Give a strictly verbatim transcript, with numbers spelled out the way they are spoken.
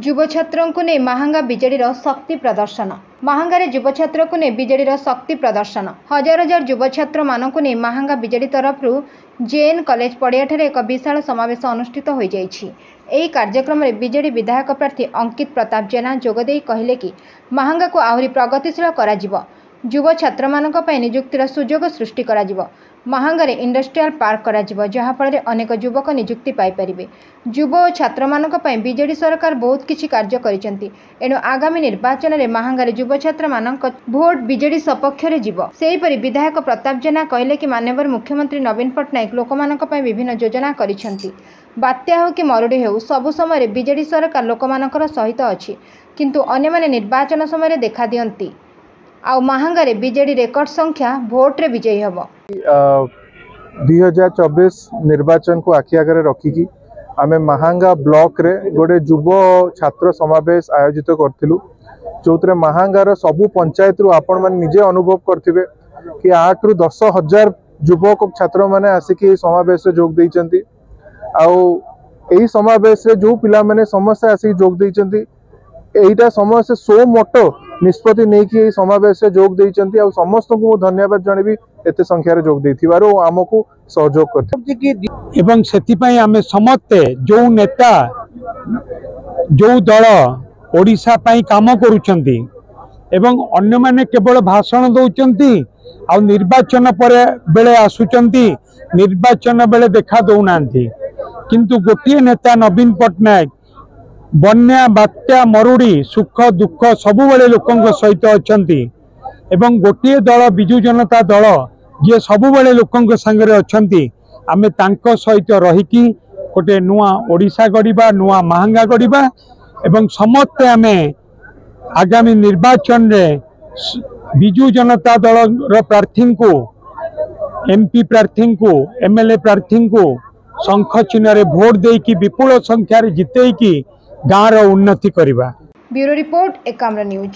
ଯୁବ ଛାତ୍ରଙ୍କୁ ନେଇ ମାହାଙ୍ଗା ବିଜେଡିର ଶକ୍ତି ପ୍ରଦର୍ଶନ। ମାହାଙ୍ଗାରେ ଯୁବ ଛାତ୍ରକୁ ନେଇ ବିଜେଡିର ଶକ୍ତି ପ୍ରଦର୍ଶନ। ହଜାର ହଜାର ଯୁବ ଛାତ୍ରମାନଙ୍କୁ ନେଇ ମାହାଙ୍ଗା ବିଜେଡି ତରଫରୁ ଜେଏନ୍ କଲେଜ ପଡ଼ିଆଠାରେ ଏକ ବିଶାଳ ସମାବେଶ ଅନୁଷ୍ଠିତ ହୋଇଯାଇଛି। ଏହି କାର୍ଯ୍ୟକ୍ରମରେ ବିଜେଡି ବିଧାୟକ ପ୍ରାର୍ଥୀ ଅଙ୍କିତ ପ୍ରତାପ ଜେନା ଯୋଗଦେଇ କହିଲେ କି ମାହାଙ୍ଗାକୁ ଆହୁରି ପ୍ରଗତିଶୀଳ କରାଯିବ, ଯୁବ ଛାତ୍ରମାନଙ୍କ ପାଇଁ ନିଯୁକ୍ତିର ସୁଯୋଗ ସୃଷ୍ଟି କରାଯିବ, ମାହାଙ୍ଗାରେ ଇଣ୍ଡଷ୍ଟ୍ରିଆଲ ପାର୍କ କରାଯିବ, ଯାହାଫଳରେ ଅନେକ ଯୁବକ ନିଯୁକ୍ତି ପାଇପାରିବେ। ଯୁବ ଓ ଛାତ୍ରମାନଙ୍କ ପାଇଁ ବିଜେଡି ସରକାର ବହୁତ କିଛି କାର୍ଯ୍ୟ କରିଛନ୍ତି। ଏଣୁ ଆଗାମୀ ନିର୍ବାଚନରେ ମାହାଙ୍ଗାରେ ଯୁବ ଛାତ୍ରମାନଙ୍କ ଭୋଟ ବିଜେଡି ସପକ୍ଷରେ ଯିବ। ସେହିପରି ବିଧାୟକ ପ୍ରତାପ ଜେନା କହିଲେ କି ମାନ୍ୟବର ମୁଖ୍ୟମନ୍ତ୍ରୀ ନବୀନ ପଟ୍ଟନାୟକ ଲୋକମାନଙ୍କ ପାଇଁ ବିଭିନ୍ନ ଯୋଜନା କରିଛନ୍ତି। ବାତ୍ୟା ହେଉ କି ମରୁଡ଼ି ହେଉ, ସବୁ ସମୟରେ ବିଜେଡି ସରକାର ଲୋକମାନଙ୍କର ସହିତ ଅଛି, କିନ୍ତୁ ଅନ୍ୟମାନେ ନିର୍ବାଚନ ସମୟରେ ଦେଖାଦିଅନ୍ତି। ଆଉ ମାହାଙ୍ଗାରେ ବିଜେଡି ରେକର୍ଡ ସଂଖ୍ୟା ଭୋଟରେ ବିଜୟୀ ହେବ। ଦୁଇ ହଜାର ଚବିଶ ନିର୍ବାଚନକୁ ଆଖି ଆଗରେ ରଖିକି ଆମେ ମାହାଙ୍ଗା ବ୍ଲକରେ ଗୋଟେ ଯୁବ ଛାତ୍ର ସମାବେଶ ଆୟୋଜିତ କରିଥିଲୁ, ଯେଉଁଥିରେ ମାହାଙ୍ଗାର ସବୁ ପଞ୍ଚାୟତରୁ ଆପଣମାନେ ନିଜେ ଅନୁଭବ କରିଥିବେ କି ଆଠରୁ ଦଶ ହଜାର ଯୁବକ ଛାତ୍ରମାନେ ଆସିକି ଏହି ସମାବେଶରେ ଯୋଗ ଦେଇଛନ୍ତି। ଆଉ ଏହି ସମାବେଶରେ ଯେଉଁ ପିଲାମାନେ ସମସ୍ତେ ଆସିକି ଯୋଗ ଦେଇଛନ୍ତି, ଏଇଟା ସମସ୍ତେ ସୁଓ ମୋଟୋ ନିଷ୍ପତ୍ତି ନେଇକି ଏହି ସମାବେଶରେ ଯୋଗ ଦେଇଛନ୍ତି। ଆଉ ସମସ୍ତଙ୍କୁ ମୁଁ ଧନ୍ୟବାଦ ଜଣେଇବି ଏତେ ସଂଖ୍ୟାରେ ଯୋଗ ଦେଇଥିବାରୁ ଓ ଆମକୁ ସହଯୋଗ କରିଥିବାରୁ। ଏବଂ ସେଥିପାଇଁ ଆମେ ସମସ୍ତେ ଯେଉଁ ନେତା, ଯେଉଁ ଦଳ ଓଡ଼ିଶା ପାଇଁ କାମ କରୁଛନ୍ତି ଏବଂ ଅନ୍ୟମାନେ କେବଳ ଭାଷଣ ଦେଉଛନ୍ତି ଆଉ ନିର୍ବାଚନ ପରେ ବେଳେ ଆସୁଛନ୍ତି, ନିର୍ବାଚନ ବେଳେ ଦେଖା ଦେଉନାହାନ୍ତି, କିନ୍ତୁ ଗୋଟିଏ ନେତା ନବୀନ ପଟ୍ଟନାୟକ ବନ୍ୟା, ବାତ୍ୟା, ମରୁଡ଼ି, ସୁଖ ଦୁଃଖ ସବୁବେଳେ ଲୋକଙ୍କ ସହିତ ଅଛନ୍ତି। ଏବଂ ଗୋଟିଏ ଦଳ ବିଜୁ ଜନତା ଦଳ, ଯିଏ ସବୁବେଳେ ଲୋକଙ୍କ ସାଙ୍ଗରେ ଅଛନ୍ତି, ଆମେ ତାଙ୍କ ସହିତ ରହିକି ଗୋଟେ ନୂଆ ଓଡ଼ିଶା ଗଢ଼ିବା, ନୂଆ ମାହାଙ୍ଗା ଗଢ଼ିବା। ଏବଂ ସମସ୍ତେ ଆମେ ଆଗାମୀ ନିର୍ବାଚନରେ ବିଜୁ ଜନତା ଦଳର ପ୍ରାର୍ଥୀଙ୍କୁ, ଏମ୍ପି ପ୍ରାର୍ଥୀଙ୍କୁ, ଏମ୍ ଏଲ୍ ଏ ପ୍ରାର୍ଥୀଙ୍କୁ ଶଙ୍ଖ ଚିହ୍ନରେ ଭୋଟ ଦେଇକି ବିପୁଳ ସଂଖ୍ୟାରେ ଜିତେଇକି ଗାଁର ଉନ୍ନତି କରିବା। Bureau report, Ekamra news.